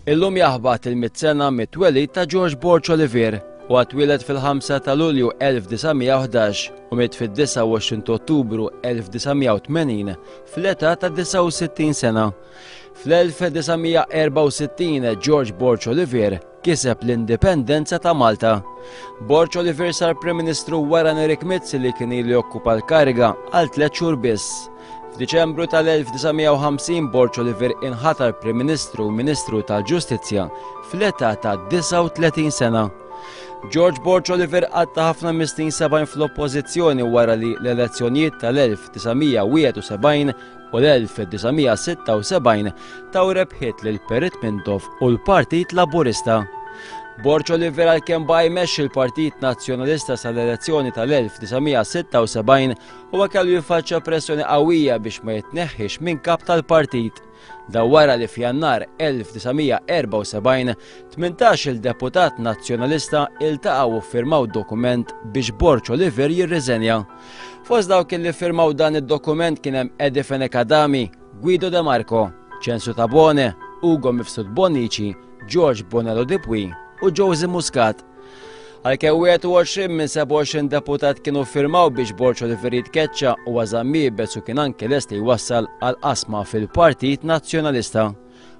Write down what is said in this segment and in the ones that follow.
Illum jaħbat il-mit sena mit-twelid ta' George Borg Olivier u twieled fil-5 ta' Lulju 1911 u miet fid-29 Ottubru 1980 fl-età ta' 69 sena. Fl-1964 George Borg Olivier kiseb l-indipendenza ta' Malta. Borg Olivier sar Prim Ministru wara Nerik Mizzi li kien ilu jokkupa l-kariga għal tliet xhur biss. F'Diċembru tal-1950 Borg Olivier inħatar Prim Ministru u Ministru tal-Ġustizzja fl-età ta' 39 sena. George Borg Olivier qatta ħafna mis-snin 70 fl-oppożizzjoni wara li l-elezzjonijiet tal-1971 u l-1976 taw rebħiet lil Perit Mintoff u l-Partit Laburista. Borg Olivier għalkemm baqa' jmexxi l-Partit Nazzjonalista sal-elezzjoni tal-1976 huwa kellu jiffaċċja pressjoni qawwija biex ma jitneħħiex minn kap tal-partit. Dan wara li f'Jannar 1974 18-il deputat Nazzjonalista iltaqgħu u ffirmaw dokument biex Borg Olivier jirriżenja. Fost dawk li ffirmaw dan id-dokument kien hemm Eddie Fenech Adami, Guido De Marco, Ċensu Tabone, Ugo Mifsud Bonnici, George Bonello Di Puy u Josie Muscat. Għalkemm 21 minn 27 deputat kienu ffirmaw biex Borg Olivier jitkeċċa u għażamm iebes u kien anke lest li jwassal għal qasma fil-Partit Nazzjonalista.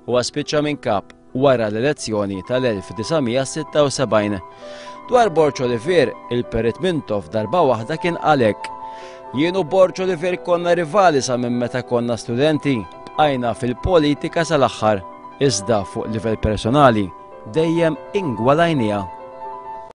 Huwa spiċċa minn kap wara l-elezzjoni tal-1976. Dwar Borg Olivier, il-Perit Mintoff darba waħda kien qal hekk: Jien u Borg Olivier konna rivali sa minn meta konna studenti, bqajna fil-politika sal-aħħar, iżda fuq livell personali dejjem ingwalajniha.